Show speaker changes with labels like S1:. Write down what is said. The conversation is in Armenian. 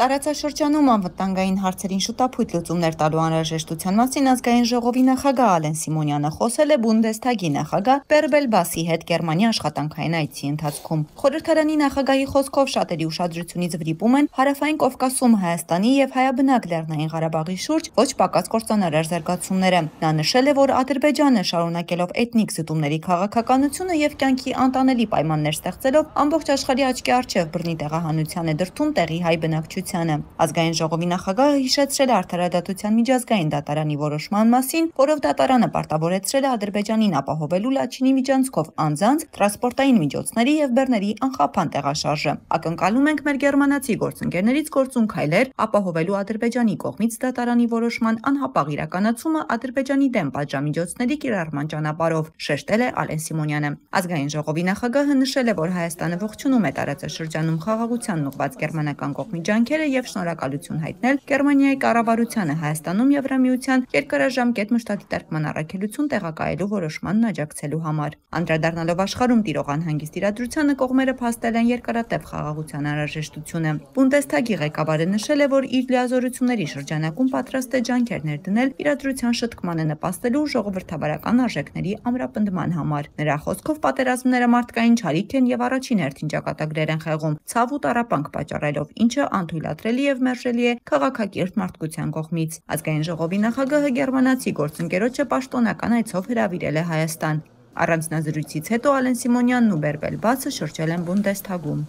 S1: Տարածաշրջանում անվտանգային հարցերին շուտափույթ լուծումներ տալու անհրաժեշտության մասին ազգային ժողովի նախագահ Ալեն Սիմոնյանը խոսել է Բունդեսթագի նախագահ Բերբել Բասի հետ Գերմանիա աշխատանքային այցի ընթացքում։ Խորհրդարանի նախագահի խոսքով շատերի ուշադրությունից վրիպում են Հարավային Կովկասում Հայաստանի եւ Հայաբնակ Լեռնային Ղարաբաղի շուրջ ոչ պակաս կործանարար զարգացումները։ Նա նշել է, որ Ադրբեջանը շարունակելով էթնիկ զտումների քաղաքականությունը եւ կյանքի անտանելի պայմաններ ստեղծելով ամբողջ աշխարհի աչքի առջեւ բռնի տեղահանության է դրդում տեղի հայ բնակչությանը։ Ազգային ժողովի նախագահը հիշեցրել է Արդարադատության միջազգային դատարանի որոշման մասին, որով դատարանը պարտավորեցրել է Ադրբեջանին ապահովելու Լաչինի միջանցքով անձանց, տրանսպորտային միջոցների եւ բեռների անխափան տեղաշարժը։ Ակնկալում ենք մեր գերմանացի գործընկերներից գործուն քայլեր ապահովելու Ադրբեջանի կողմից դատարանի որոշման անհապաղ իրականացումը Ադրբեջանի դեմ պատժամիջոցների կիրառման ճանապարհով, շեշտել է Ալեն Սիմոնյանը։ Ազգային ժողովի նախագահը նշել է, որ Հայաստանը ողջունում է տարածաշրջանում խաղաղությանն ուղղված գերմանական կողմի ջանքերը եւ շնորհակալություն հայտնել Գերմանիայի կառավարությանը Հայաստանում Եվրամիության երկարաժամկետ մշտադիտարկման առաքելություն տեղակայելու որոշմանն աջակցելու համար։ Անդրադառնալով աշխարհում տիրող անհանգիստ իրադրությանը կողմերը փաստել են երկարատև խաղաղության անհրաժեշտությունը։ Բունդեսթագի ղեկավարը նշել է, որ իր լիազորությունների շրջանակում պատրաստ է ջանքեր ներդնել իրադրության շտկմանը նպաստելու ժողովրդավարական արժեքների ամրապնդման համար։ Նրա խոսքով պատերազմները մարդկային չարիք են եւ առաջին հերթին ճակատագրեր են խեղում, ցավ ու տառապանք պատճառելով, ինչը անթույլատրելի եւ մերժելի է քաղաքակիրթ մարդկության կողմից։ Ազգային ժողովի նախագահը գերմանացի գործընկերոջը պաշտոնական այցով հրավիրել է Հայաստան։ Առանձնազրույցից հետո Ալեն Սիմոնյանն ու Բերբել Բասը շրջել են Բունդեսթագում։